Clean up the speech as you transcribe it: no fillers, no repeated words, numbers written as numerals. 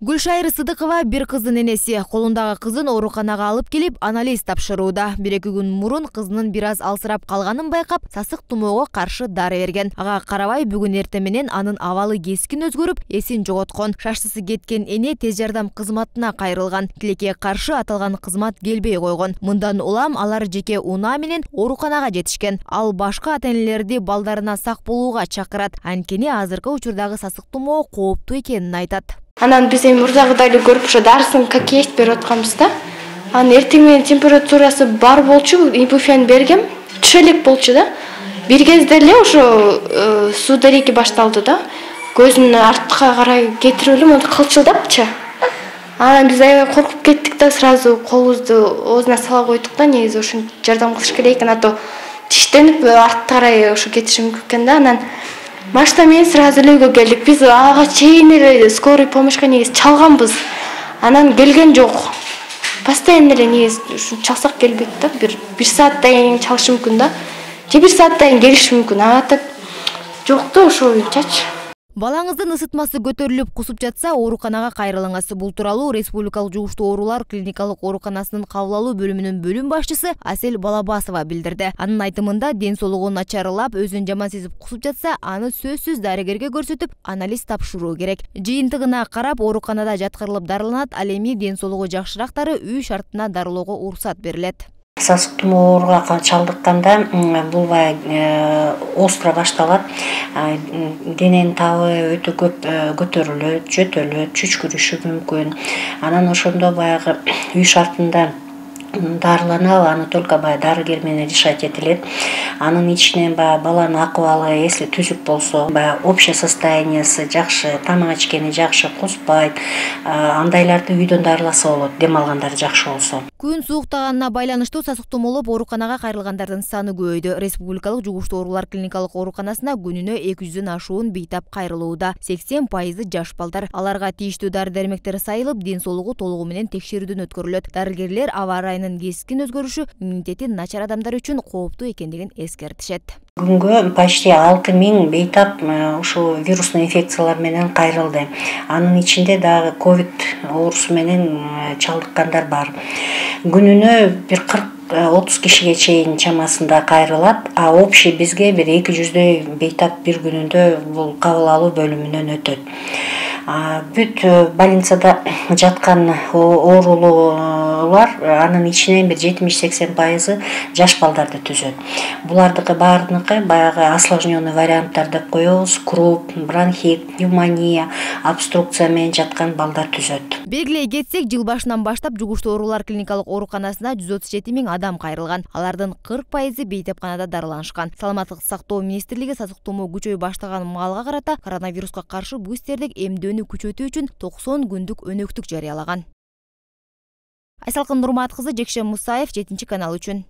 Гүлшайыр Сыдыкова бир кыздын энеси. Колундагы кызын ооруканага алып келип, анализ тапшырууда. 1-2 күн мурун кызынын бир аз алсырап калганын байкап, сасык тумоого каршы дары берген. Ага карабай бүгүн эртең менен анын абалы кескин өзгөрүп, эсин жоготкон. Шаштысы кеткен эне тез жардам кызматына кайрылган. Тилекке каршы аталган кызмат келбей койгон. Мындан улам алар жеке унаа менен ооруканага жетишкен. Ал башка ата-энелерди балдарына сак болууга чакырат. Анткени азыркы учурдагы сасык тумоо кооптуу экенин айтат. Анан биз эми мурдагыдай эле көрүп ушу дарысын как есть берип атканбыз да. Анан эртең менен температурасы бар болчу, ибуфен бергем, түшө элек болчу да. Бир кезде эле ошо суу дареги башталды да. Көзүн артка карай кетирип эле монтип кылчылдапчы. Анан биз аябай коркуп кеттик да, сразу колубузду оозуна сала койдук да, негизи ушинтип жардам кылыш керек экен, а то тиштенип артка карай ошо кетиши мүмкүн экен да. Анан машина менен сразу эле үйгө келдик. Биз ага чейин эле скорый помощька негизи чалганбыз. Анан келген жок. Постоянно эле негизи ушу чалсак келбейт да. Бир сааттан кийин чалышы мүмкүн да. Же бир сааттан кийин келиши мүмкүн. Ага так жок да ошойчачы. Балаңыздын ысытмасы көтөрүлүп кусуп жатса, ооруканага кайрылыңыз. Бул тууралуу Республикалык жугуштуу оорулар клиникалык ооруканасынын кабыл алуу бөлүмүнүн бөлүм башчысы Асель Балабасова билдирди. Анын айтымында, ден соолугу начарлап, өзүн жаман сезип кусуп жатса, аны сөзсүз дарыгерге көрсөтүп, анализ тапшыруу керек. Жыйынтыгына карап, ооруканада жаткырылып дарыланат, ал эми ден соолугу жакшырактары үй шартына дарылоого уруксат берилет. Сасык тумоо ооруга чалдыкканда бул баягы остро башталат. Дененин табы өтө көп көтөрүлөт, жөтөлөт, чүчкүрүшү мүмкүн. Анан ошондо баягы үй шартында дарыланабы, аны только баягы дарыгер менен решать этилет. Анын ичинен баягы баланын акыбалы, если түзүк болсо, баягы общее состояниясы жакшы, тамак ичкени жакшы, куспайт, андайларды үйдөн дарыласа болот, дем алгандары жакшы болсо. Күн сууктаганына байланыштуу сасык тумоолоп ооруканага кайрылгандардын саны көбөйдү. Республикалык жугуштуу оорулар клиникалык ооруканасына күнүнө 200дөн ашуун бейтап кайрылууда. 80% жаш балдар. Аларга тийиштүү дары-дармектер сайылып, ден соолугу толугу менен текшерүүдөн өткөрүлөт. Дарыгерлер аба ырайынын кескин өзгөрүшү иммунитети начар адамдар үчүн кооптуу экендигин эскертишет. Күнгө почти 6000 бейтап ушу вирусный инфекциялар менен кайрылды. Анын ичинде дагы ковид оорусу менен чалдыккандар бар. Күнүнө бир 40-30 кишиге чейин чамасында кайрылат, а общий бизге бир 200дөй бейтап бир күнүндө бул кабыл алуу бөлүмүнөн өтөт. Бүт больницада жаткан оорулуулар анын ичинен бир 70-80% жаш балдарды түзөт. Булардыкы баарыныкы баягы осложненный варианттар деп коебуз: круп, бронхит, пневмония, обструкция менен жаткан балдар түзөт. Белгилей кетсек, жыл башынан баштап жугуштуу оорулар клиникалык ооруканасына 137 000 адам кайрылган. Алардын 40% бейтапканада дарыланышкан. Саламаттык сактоо министрлиги сасык тумоо күчөй баштаган маалга карата коронавируска каршы бустердик эмдөөнү күчөтүү үчүн 90 күндүк өнөктүк жарыялаган. Айсалкын Нурмат кызы, Жекшен Мусаев, 7 канал үчүн.